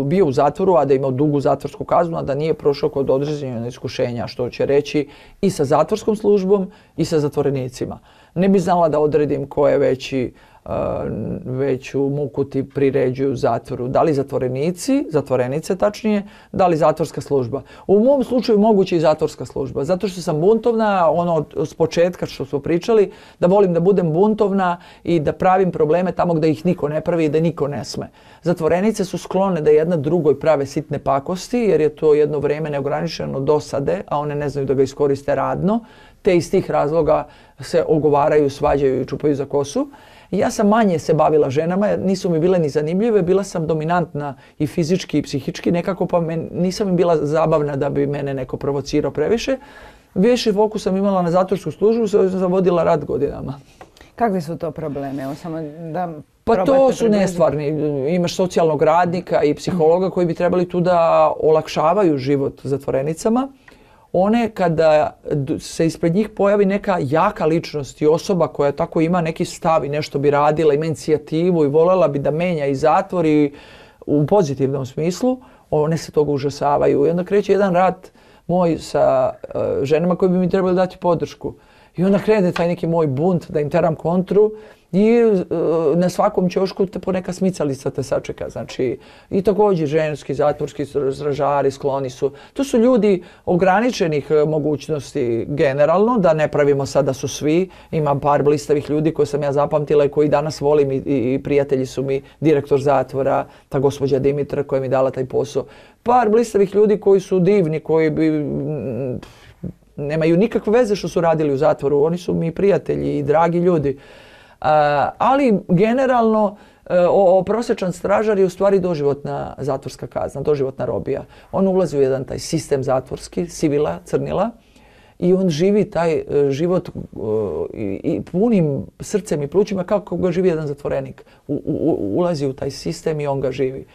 bio u zatvoru, a da je imao dugu zatvorsku kaznu, a da nije prošao kod određenog iskušenja, što će reći i sa zatvorskom službom i sa zatvorenicima. Ne bi znala da odredim ko je veću muku ti priređuju u zatvoru. Da li zatvorenici, zatvorenice tačnije, da li zatvorska služba. U mom slučaju moguće i zatvorska služba, zato što sam buntovna, ono s početka što smo pričali, da volim da budem buntovna i da pravim probleme tamo gdje ih niko ne pravi i da niko ne sme. Zatvorenice su sklone da jedna drugoj prave sitne pakosti, jer je to jedno vrijeme neograničeno dosade, a one ne znaju da ga iskoriste radno, te iz tih razloga se ogovaraju, svađaju i čupaju za kosu. Ja sam manje se bavila ženama, jer nisu mi bile ni zanimljive, bila sam dominantna i fizički i psihički nekako, pa nisam mi bila zabavna da bi mene neko provocirao previše. Više fokus sam imala na zatvorsku službu, sam zavodila rad godinama. Kakvi su to problemi? Evo samo da pa to su nestvarni. Imaš socijalnog radnika i psihologa koji bi trebali tu da olakšavaju život zatvorenicama. One kada se ispred njih pojavi neka jaka ličnost i osoba koja tako ima neki stav i nešto bi radila, ima inicijativu i voljela bi da menja i zatvor i u pozitivnom smislu, one se toga užasavaju. I onda kreće jedan rat moj sa ženama koji bi mi trebali dati podršku. I onda krene taj neki moj bunt da im teram kontru i na svakom ćošku te poneka smicalica te sačeka. Znači, i također ženski, zatvorski stražari skloni su. To su ljudi ograničenih mogućnosti generalno, da ne pravimo sad da su svi. Imam par blistavih ljudi koje sam ja zapamtila i koji danas volim i prijatelji su mi direktor zatvora, ta gospođa Dimitra koja mi dala taj posao. Par blistavih ljudi koji su divni, koji bi nemaju nikakve veze što su radili u zatvoru. Oni su mi prijatelji i dragi ljudi. Ali generalno prosječan stražar je u stvari doživotna zatvorska kazna, doživotna robija. On ulazi u jedan taj sistem zatvorski, sivila, crnila i on živi taj život i punim srcem i plućima kako ga živi jedan zatvorenik. Ulazi u taj sistem i on ga živi.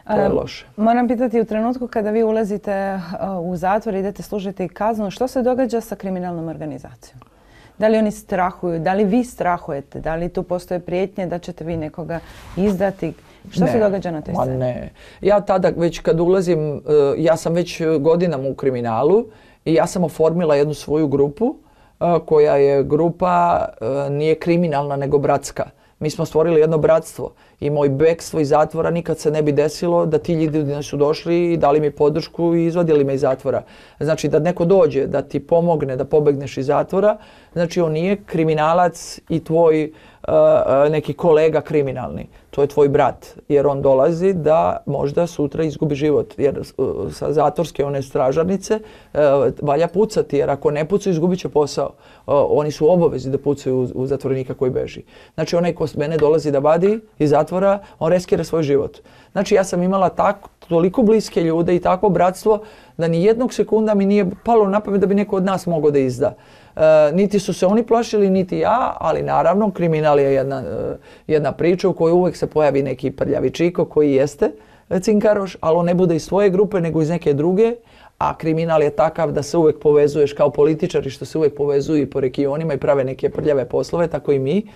To je loše. Moram pitati, u trenutku kada vi ulazite u zatvor, idete služiti kaznu, što se događa sa kriminalnom organizacijom? Da li oni strahuju? Da li vi strahujete? Da li tu postoje prijetnje da ćete vi nekoga izdati? Što se događa na toj sceni? Ne. Ja tada već kad ulazim, ja sam već godinama u kriminalu i ja sam oformila jednu svoju grupu koja je grupa, nije kriminalna nego bratska. Mi smo stvorili jedno bratstvo i moj bekstvo iz zatvora nikad se ne bi desilo da ti ljudi su došli i dali mi podršku i izvadili me iz zatvora. Znači da neko dođe da ti pomogne da pobegneš iz zatvora, znači on nije kriminalac i tvoj neki kolega kriminalni. To je tvoj brat, jer on dolazi da možda sutra izgubi život. Jer sa zatvorske one stražarnice valja pucati, jer ako ne pucaju izgubit će posao. Oni su obavezi da pucaju u zatvorenika koji beži. Znači onaj ko mene dolazi da vadi iz zatvora, on riskira svoj život. Znači ja sam imala toliko bliske ljude i takvo bratstvo da ni jednog sekunda mi nije palo na pamet da bi neko od nas mogao da izda. Niti su se oni plašili, niti ja, ali naravno kriminal je jedna priča u kojoj uvijek se pojavi neki prljavi čiko koji jeste cinkaroš, ali on ne bude iz svoje grupe nego iz neke druge, a kriminal je takav da se uvijek povezuješ kao političari što se uvijek povezuju i po regionima i prave neke prljave poslove, tako i mi.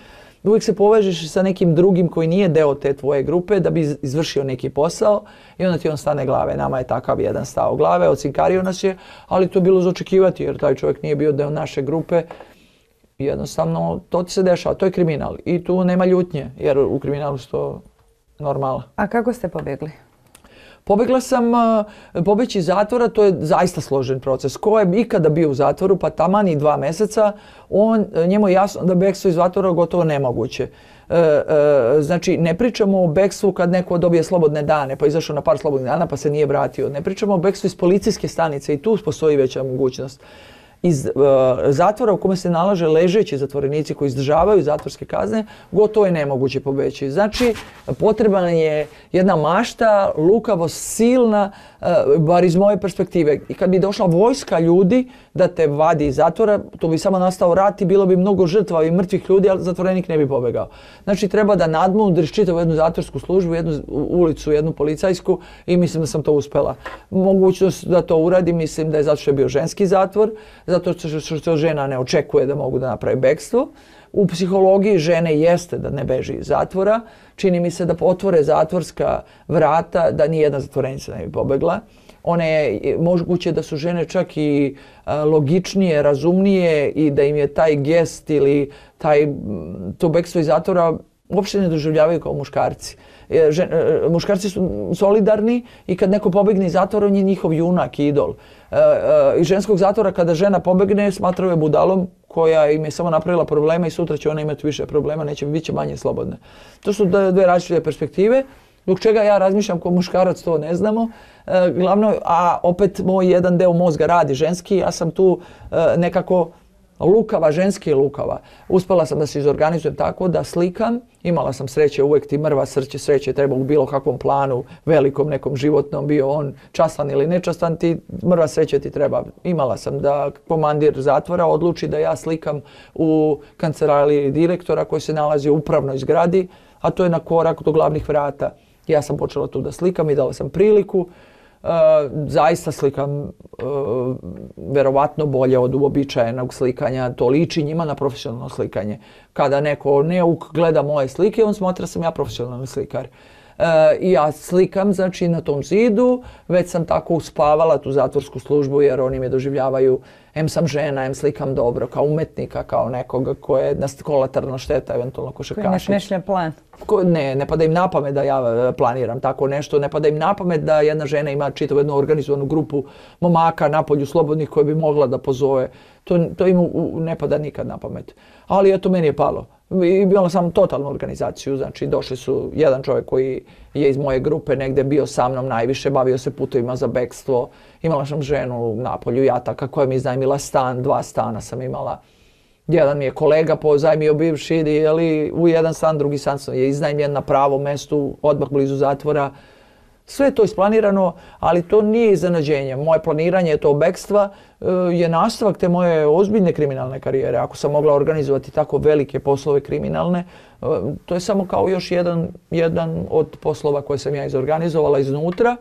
Uvijek se povežeš sa nekim drugim koji nije deo te tvoje grupe da bi izvršio neki posao i onda ti on stane glave. Nama je takav jedan stao glave, ocinkario nas je, ali to je bilo za očekivati jer taj čovjek nije bio deo naše grupe. Jednostavno, to ti se dešava, to je kriminal i tu nema ljutnje jer u kriminalu su to normala. A kako ste pobjegli? Pobjegla sam, pobeći iz zatvora, to je zaista složen proces. Ko je ikada bio u zatvoru, pa taman i 2 mjeseca, njemu je jasno da bekstvo iz zatvora gotovo nemoguće. Znači, ne pričamo o bekstvu kad neko dobije slobodne dane, pa izašao na par slobodnih dana pa se nije vratio. Ne pričamo o bekstvu iz policijske stanice i tu postoji veća mogućnost. Iz zatvora u kome se nalaže ležeći zatvorenici koji izdržavaju zatvorske kazne, gotovo je nemoguće pobeći. Znači, potrebna je jedna mašta, lukavost, silna, bar iz moje perspektive. I kad bi došla vojska ljudi da te vadi iz zatvora, to bi samo nastao rat i bilo bi mnogo žrtva i mrtvih ljudi, ali zatvorenik ne bi pobegao. Znači, treba da nadmudriš čitavu jednu zatvorsku službu, jednu ulicu, jednu policajsku i mislim da sam to uspela. Mogućnost da to uradim, mislim da je zato što je bio ženski zatvor, zato što žena ne očekuje da mogu da napravi bekstvo. U psihologiji žene jeste da ne beži iz zatvora. Čini mi se da otvore zatvorska vrata, da nijedna zatvorenica ne bi pobegla. Moguće da su žene čak i logičnije, razumnije i da im je taj gest ili to bekstvo iz zatvora uopšte ne doživljavaju kao muškarci. Muškarci su solidarni i kad neko pobegne iz zatvora, on je njihov junak i idol. Iz ženskog zatvora kada žena pobegne, smatraju je budalom koja im je samo napravila problema i sutra će ona imati više problema, bit će manje slobodne. To su dve različite perspektive. Zbog čega ja razmišljam kao muškarac, to ne znamo. Glavno, a opet moj jedan deo mozga radi ženski, ja sam tu nekako lukava, ženski lukava. Uspela sam da se izorganizujem tako da slikam. Imala sam sreće, uvijek ti mrva sreće treba u bilo kakvom planu, velikom nekom životnom, bio on častan ili nečastan, mrva sreće ti treba. Imala sam da komandir zatvora odluči da ja slikam u kancelariji direktora koji se nalazi u upravnoj zgradi, a to je na korak do glavnih vrata. Ja sam počela tu da slikam i dala sam priliku. Zaista slikam verovatno bolje od uobičajenog slikanja, to liči njima na profesionalno slikanje. Kada neko neuk gleda moje slike, on smatra da sam ja profesionalni slikar. I ja slikam, znači, na tom zidu, već sam tako uspavala tu zatvorsku službu jer oni me doživljavaju, em sam žena, em slikam dobro, kao umetnika, kao nekoga ko je kolateralna šteta, eventualno košarkašić. Koji ne smišlja plan. Ne pada im na pamet da ja planiram tako nešto, ne pada im na pamet da jedna žena ima čitavu jednu organizovanu grupu momaka napolju slobodnih koje bi mogla da pozove. To im ne pada nikad na pamet. Ali eto, meni je palo. I imala sam totalnu organizaciju, znači došli su jedan čovjek koji je iz moje grupe negdje bio sa mnom najviše, bavio se putovima za bekstvo, imala sam ženu na polju jataka koja mi je iznajmila stan, 2 stana sam imala. Jedan mi je kolega pozajmio bivši, u jedan stan, drugi stan je iznajmljen na pravom mestu, odmah blizu zatvora. Sve je to isplanirano, ali to nije iznenađenje. Moje planiranje tog bekstva je nastavak te moje ozbiljne kriminalne karijere. Ako sam mogla organizovati tako velike poslove kriminalne, to je samo kao još jedan od poslova koje sam ja izorganizovala iznutra.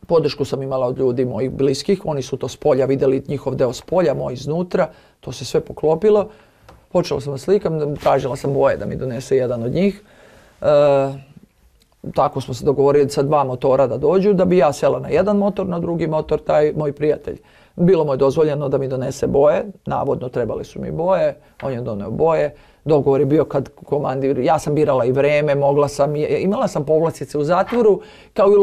Podršku sam imala od ljudi mojih bliskih, oni su to s polja vidjeli, njihov deo s polja, moj iznutra, to se sve poklopilo. Počela sam da slikam, tražila sam boje da mi donese jedan od njih. Tako smo se dogovorili sa 2 motora da dođu, da bi ja sela na jedan motor, na drugi motor taj moj prijatelj. Bilo mu je dozvoljeno da mi donese boje, navodno trebali su mi boje, on je doneo boje. Dogovor je bio kad komandir, ja sam birala i vreme, imala sam povlastice u zatvoru kao i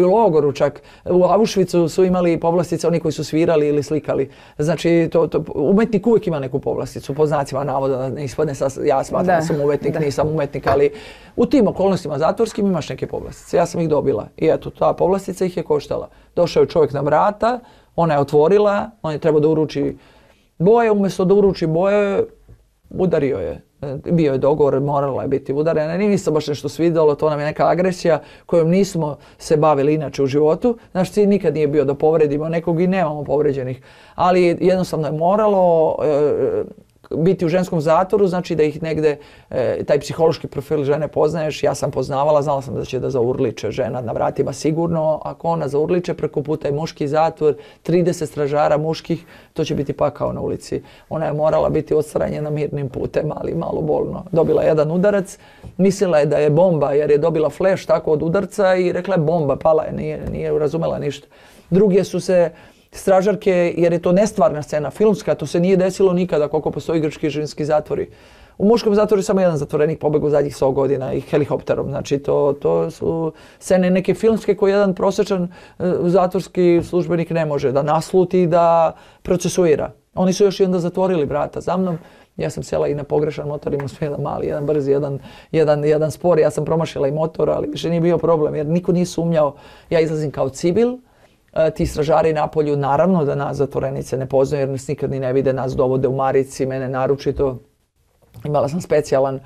u logoru čak. U Auschwitzu su imali povlastice oni koji su svirali ili slikali. Znači, umetnik uvijek ima neku povlasticu, po znacima navoda, da ne ispadne ja smatram da sam umetnik, nisam umetnik, ali u tim okolnostima zatvorskim imaš neke povlastice. Ja sam ih dobila i eto, ta povlastica ih je koštala. Došao je čovjek na vrata, ona je otvorila, on je trebao da uruči boje, umjesto da uruči boje, udario je. Bio je dogovor, morala je biti udarena. Nije se baš nešto svidjelo, to nam je neka agresija kojom nismo se bavili inače u životu. Naš cilj nikad nije bio da povredimo nekog i nemamo povređenih. Ali jednostavno je moralo biti u ženskom zatvoru, znači da ih negde, taj psihološki profil žene poznaješ. Ja sam poznavala, znala sam da će da zaurliče žena na vratima sigurno. Ako ona zaurliče preko puta i muški zatvor, 30 stražara muških, to će biti pakao na ulici. Ona je morala biti odstranjena mirnim putem, ali malo bolno. Dobila jedan udarac, mislila je da je bomba jer je dobila fleš tako od udarca i rekla je bomba, pala je, nije razumela ništa. Druge su se stražarke, jer je to nestvarna scena, filmska, to se nije desilo nikada koliko postoji grčki i ženski zatvori. U muškom zatvoru je samo jedan zatvorenik pobegao zadnjih 100 godina i helikopterom. Znači to su scene neke filmske koje jedan prosječan zatvorski službenik ne može da nasluti i da procesuira. Oni su još i onda zatvorili vrata za mnom. Ja sam sjela i na pogrešan motor, imao sam jedan mali, jedan brzi, jedan spor. Ja sam promašila i motor, ali više nije bio problem jer niko nije sumnjao. Ja izlazim kao civil. Ti stražari napolju naravno da nas zatvorenice ne poznaju jer nas nikad ni ne vide, nas dovode u marici, mene naročito. Imala sam specijalan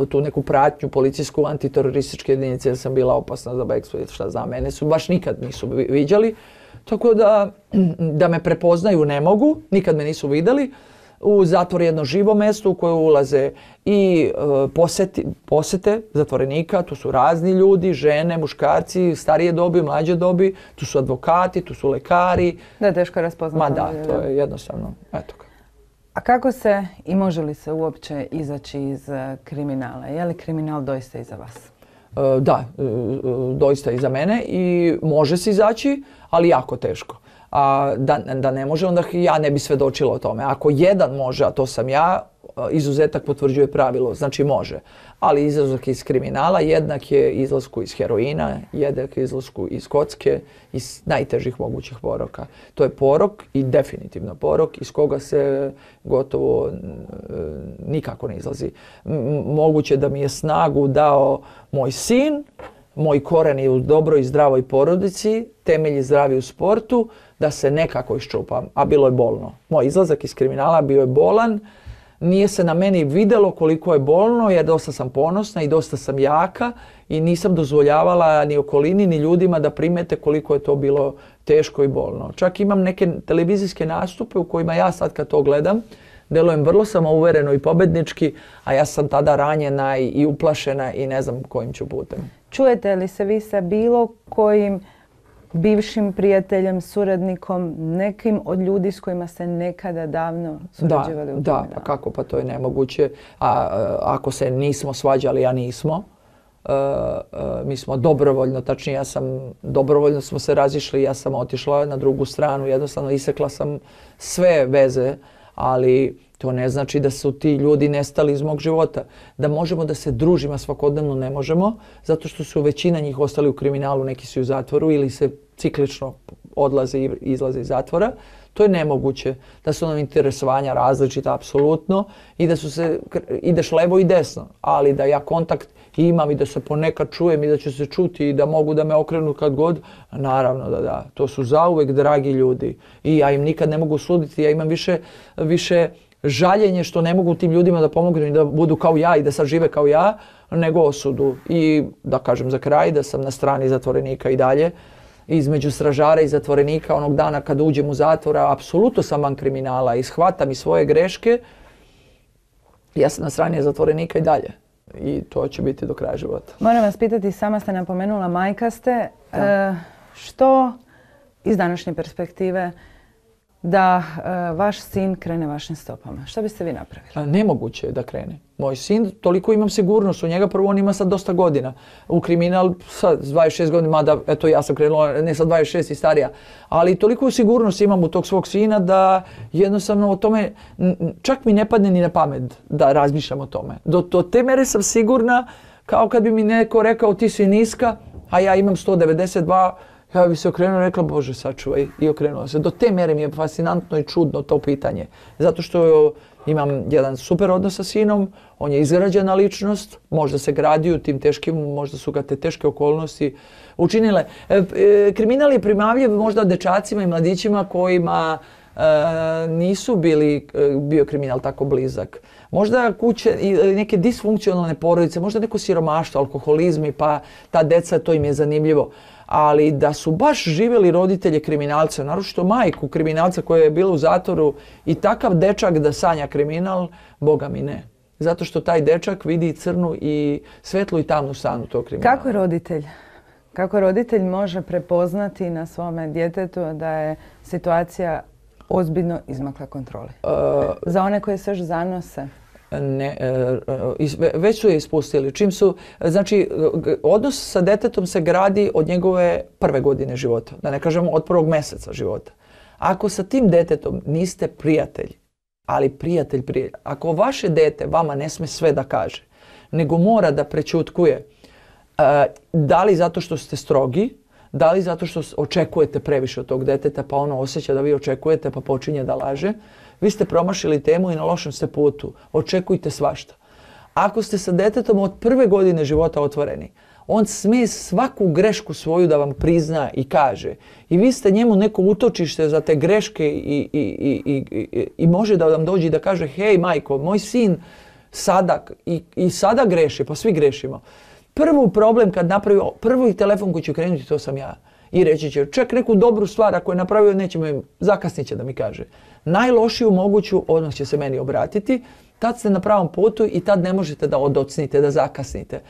tu neku pratnju policijsku, antiterorističke jedinice jer sam bila opasna za bekstvo i šta znam, mene su baš nikad nisu viđali. Tako da me prepoznaju ne mogu, nikad me nisu vidjeli. U zatvor je jedno živo mjesto u koje ulaze i posete zatvorenika, tu su razni ljudi, žene, muškarci, starije dobi, mlađe dobi, tu su advokati, tu su lekari. Da je teško raspoznati. Ma da, to je jednostavno, eto ga. A kako se i može li se uopće izaći iz kriminala? Je li kriminal doista iza vas? Da, doista iza mene i može se izaći, ali jako teško. A da ne može, onda ja ne bi svedočila o tome. Ako jedan može, a to sam ja, izuzetak potvrđuje pravilo, znači može. Ali izlazak iz kriminala jednak je izlasku iz heroina, jednak je izlasku iz kocke, iz najtežih mogućih poroka. To je porok i definitivno porok iz koga se gotovo nikako ne izlazi. Moguće da mi je snagu dao moj sin, moj koren je u dobroj i zdravoj porodici, temelji zdravi u sportu, da se nekako iščupam, a bilo je bolno. Moj izlazak iz kriminala bio je bolan, nije se na meni vidjelo koliko je bolno jer dosta sam ponosna i dosta sam jaka i nisam dozvoljavala ni okolini ni ljudima da primete koliko je to bilo teško i bolno. Čak imam neke televizijske nastupe u kojima ja sad kad to gledam, delujem vrlo samouvereno i pobednički, a ja sam tada ranjena i uplašena i ne znam kojim ću putem. Čujete li se vi sa bilo kojim bivšim prijateljem, suradnikom, nekim od ljudi s kojima ste nekada davno surađivali u kriminalu? Da, pa kako, pa to je nemoguće. Ako se nismo svađali, a nismo, mi smo dobrovoljno, tačnije dobrovoljno smo se razišli, ja sam otišla na drugu stranu, jednostavno isekla sam sve veze, ali to ne znači da su ti ljudi nestali iz mog života. Da možemo da se družimo svakodnevno ne možemo, zato što su većina njih ostali u kriminalu, neki su u zatvoru ili se ciklično odlaze i izlaze iz zatvora. To je nemoguće. Da su nam interesovanja različita apsolutno i da ideš levo i desno, ali da ja kontakt imam i da se ponekad čujem i da će se čuti i da mogu da me okrenu kad god, naravno da da. To su zauvek dragi ljudi i ja im nikad ne mogu suditi. Ja imam više žaljenje što ne mogu tim ljudima da pomognu i da budu kao ja i da sad žive kao ja, nego osudu. I da kažem za kraj da sam na strani zatvorenika i dalje. Između stražara i zatvorenika onog dana kad uđem u zatvora, apsolutno sam van kriminala i shvatam i svoje greške. Ja sam na strani zatvorenika i dalje. I to će biti do kraja života. Moram vas pitati, sama ste napomenula, majka ste. Što iz današnje perspektive da vaš sin krene vašim stopama? Što biste vi napravili? Nemoguće je da krene. Moj sin, toliko imam sigurnost u njega, prvo on ima sad dosta godina. U kriminal sad s 26 godina, mada eto ja sam krenula, ne sa 26 i starija, ali toliko sigurnost imam u tog svog sina da jednostavno o tome, čak mi ne padne ni na pamet da razmišljam o tome. Do te mere sam sigurna, kao kad bi mi neko rekao ti si niska, a ja imam 192, ja bi se okrenula i rekla, Bože sačuvaj, i okrenula se. Do te mere mi je fascinantno i čudno to pitanje. Zato što imam jedan super odnos sa sinom, on je izgrađena ličnost, možda se gradi u tim teškim, možda su ga te teške okolnosti učinile. Kriminal je primamljiv možda dečacima i mladićima kojima nisu bio kriminal tako blizak. Možda kuće ili neke disfunkcionalne porodice, možda neko siromaštvo, alkoholizmi, pa ta deca, to im je zanimljivo. Ali da su baš živjeli roditelje kriminalca, naročito majku kriminalca koja je bila u zatvoru i takav dečak da sanja kriminal, Boga mi ne. Zato što taj dečak vidi crnu i svetlu i tamnu stranu tog kriminala. Kako roditelj može prepoznati na svome djetetu da je situacija ozbiljno izmakla kontroli? Za one koje se još zanose? Ne, već su je ispustili. Znači, odnos sa detetom se gradi od njegove prve godine života, da ne kažemo od prvog mjeseca života. Ako sa tim detetom niste prijatelj, ali prijatelj, ako vaše dete vama ne sme sve da kaže, nego mora da prećutkuje, da li zato što ste strogi, da li zato što očekujete previše od tog deteta, pa ono osjeća da vi očekujete, pa počinje da laže, vi ste promašili temu i na lošem ste putu. Očekujte svašta. Ako ste sa detetom od prve godine života otvoreni, on smije svaku grešku svoju da vam prizna i kaže. I vi ste njemu neko utočište za te greške i može da vam dođe i da kaže, hej majko, moj sin sada i sada greši, pa svi grešimo. Prvi problem kad napravi, prvi telefon koji će krenuti, to sam ja. I reći će, čak neku dobru stvar ako je napravio, zakasnit će da mi kaže. Najlošiju moguću, odmah će se meni obratiti, tad ste na pravom putu i tad ne možete da odocnite, da zakasnite.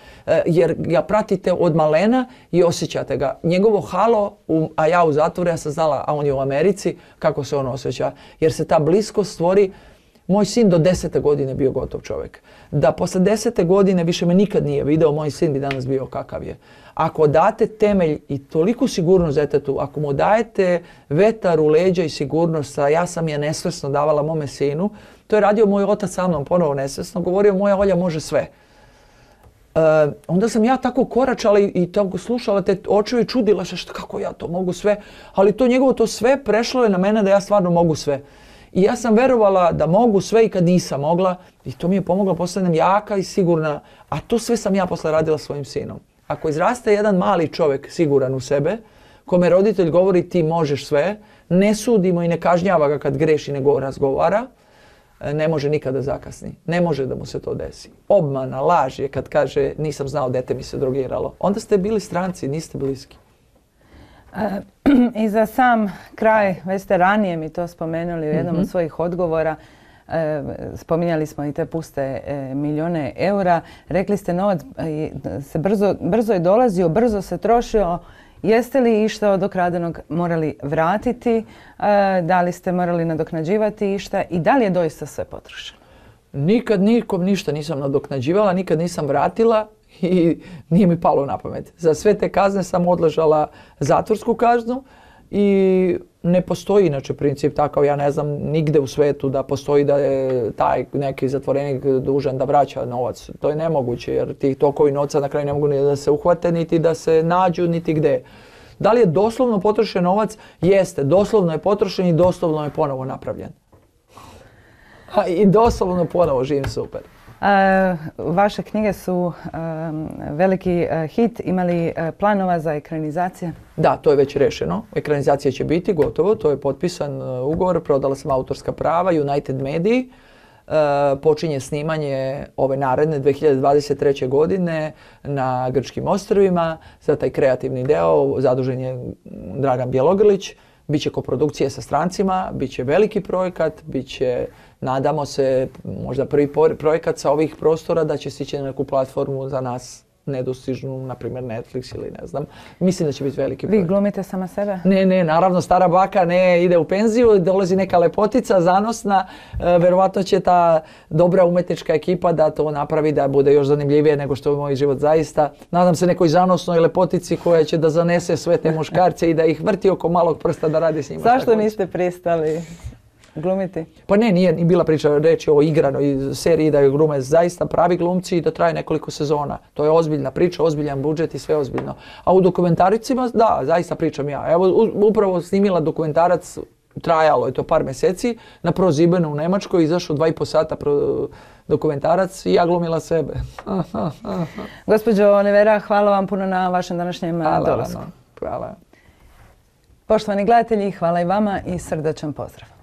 Jer ga pratite od malena i osjećate ga. Njegovo halo, a ja u zatvoru, ja sam znala, a on je u Americi, kako se on osjeća. Jer se ta bliskost stvori. Moj sin do 10. godine bio gotov čovjek. Da posle 10. godine više me nikad nije video, moj sin bi danas bio kakav je. Ako date temelj i toliku sigurnost detetu, ako mu dajete vetar u leđa i sigurnost, a ja sam je nesvesno davala mome sinu, to je radio moj otac sa mnom, ponovo nesvesno, govorio moja Olja može sve. Onda sam ja tako koračala i tako slušala te očeve i čudila se kako ja to mogu sve, ali to njegovo to sve prešlo je na mene da ja stvarno mogu sve. I ja sam verovala da mogu sve i kad nisam mogla i to mi je pomoglo, postanem jaka i sigurna, a to sve sam ja posle radila svojim sinom. Ako izraste jedan mali čovjek siguran u sebe, kome roditelj govori ti možeš sve, ne sudimo i ne kažnjava ga kad greši nego razgovara, ne može nikada zakasni. Ne može da mu se to desi. Obmana, laž je kad kaže nisam znao, dete mi se drogiralo. Onda ste bili stranci, niste bliski. I za sam kraj, već ste ranije mi to spomenuli u jednom od svojih odgovora, spominjali smo i te puste milijune eura, rekli ste novac se brzo je dolazio, brzo se trošio. Jeste li išta od okradenog morali vratiti, da li ste morali nadoknađivati išta i da li je doista sve potrošeno? Nikad nikom ništa nisam nadoknađivala, nikad nisam vratila i nije mi palo na pamet. Za sve te kazne sam odležala zatvorsku kaznu i ne postoji inače princip takav, ja ne znam nigde u svetu da postoji da je taj neki zatvorenik dužan da vraća novac. To je nemoguće jer ti tokovi novca na kraju ne mogu ni da se uhvate, niti da se nađu, niti gde. Da li je doslovno potrošen novac? Jeste, doslovno je potrošen i doslovno je ponovo napravljen. I doslovno ponovo živim super. Vaše knjige su veliki hit. Ima li planova za ekranizacije? Da, to je već rešeno. Ekranizacija će biti gotovo. To je potpisan ugovor. Prodala sam autorska prava United Mediji. počinje snimanje ove naredne 2023. godine na Grčkim ostrvima. Za taj kreativni deo zadužen je Dragan Bjelogrlić. Biće koprodukcije sa strancima, bit će veliki projekat, bit će, nadamo se, možda prvi projekat sa ovih prostora da će stići na neku platformu za nas nedostižnu, na primjer Netflix ili ne znam. Mislim da će biti veliki projekt. Vi glumite sama sebe? Ne, naravno stara baka ide u penziju, dolazi neka lepotica zanosna, verovatno će ta dobra umetnička ekipa da to napravi da bude još zanimljivije nego što je moj život zaista. Nadam se nekoj zanosnoj lepotici koja će da zanese sve te muškarce i da ih vrti oko malog prsta da radi s njima. Zašto niste pristali glumiti? Pa nije ni bila priča reći o igranoj seriji da je glume zaista pravi glumci i da traje nekoliko sezona. To je ozbiljna priča, ozbiljan budžet i sve ozbiljno. A u dokumentaricima, da, zaista pričam ja. Evo, upravo snimila dokumentarac, trajalo je to par mjeseci, na ProSiebenu u Njemačkoj, izašao 2,5 sata dokumentarac i ja glumila sebe. Gospođo Olivera, hvala vam puno na vašem današnjem dolasku. Hvala. Poštovani gledatelji, hvala i vama i srdačan pozdrav.